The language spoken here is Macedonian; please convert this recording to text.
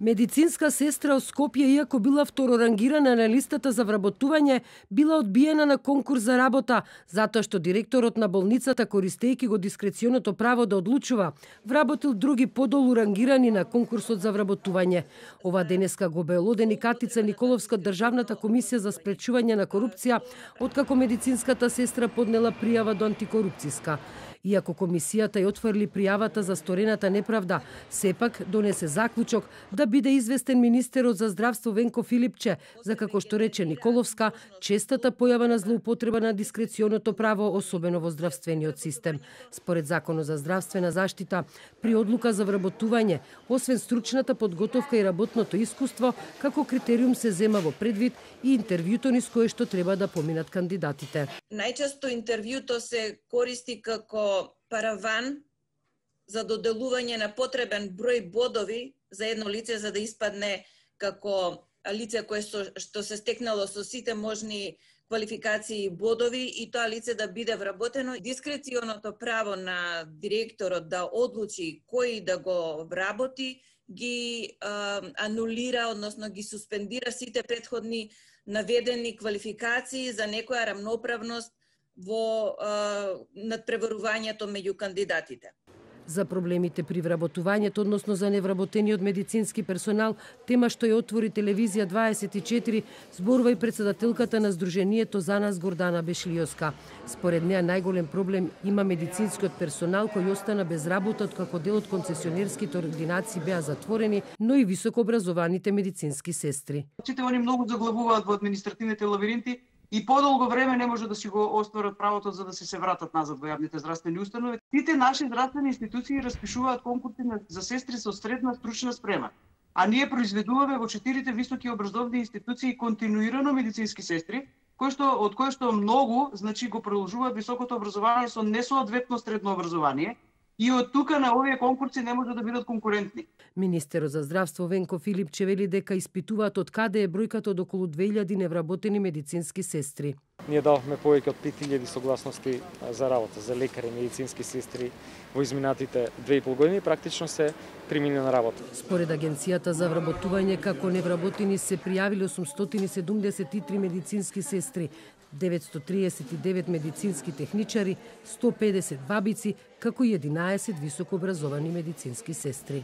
Медицинска сестра од Скопје, иако била второрангирана на листата за вработување, била одбиена на конкурс за работа, затоа што директорот на болницата, користејќи го дискреционото право да одлучува, вработил други подолу рангирани на конкурсот за вработување. Ова денеска го обелодени Катица Николовска од Државната комисија за спречување на корупција, откако медицинската сестра поднела пријава до антикорупцијска. Иако комисијата ја отфрли пријавата за сторената неправда, сепак донесе заклучок да биде известен министерот за здравство Венко Филипче, за како што рече Николовска, честата појава на злоупотреба на дискреционото право, особено во здравствениот систем. Според Законот за здравствена заштита, при одлука за вработување, освен стручната подготовка и работното искуство, како критериум се зема во предвид и интервјуто низ кое што треба да поминат кандидатите. Најчесто интервјуто се користи како параван за доделување на потребен број бодови за едно лице за да испадне како лице кое што се стекнало со сите можни квалификации и бодови и тоа лице да биде вработено. Дискреционото право на директорот да одлучи кој да го вработи ги анулира, односно ги суспендира сите претходни наведени квалификации за некоја рамноправност во надпреварувањето меѓу кандидатите. За проблемите при вработувањето, односно за невработениот медицински персонал, тема што ја отвори Телевизија 24, зборува и председателката на Сдруженијето За нас Гордана Бешлиоска. Според неа најголем проблем има медицинскиот персонал кој остана без работа откако дел од концесионерските ординации беа затворени, но и високообразованите медицински сестри. Сите они многу заглавуваат во административните лабиринти и подолго време не може да си го остварат правото за да се вратат назад во јавните здравствени установи. Сите наши здравствени институции распишуваат конкурси за сестри со средна стручна спрема. А ние произведуваме во 4 високи образовни институции континуирано медицински сестри, од кои што многу, значи, го продолжуваат високото образование со несоодветно средно образование. И од тука на овие конкурси не може да бидат конкурентни. Министерот за здравство Венко Филипче вели дека испитуваат од каде е бројката од околу 2000 невработени медицински сестри. Ние давме повеќе од 5000 согласности за работа за лекари и медицински сестри во изминатите 2,5 години, практично се примина на работа. Според Агенцијата за вработување, како невработени се пријавиле 873 медицински сестри, 939 медицински техничари, 150 бабици, како и 11 високообразовани медицински сестри.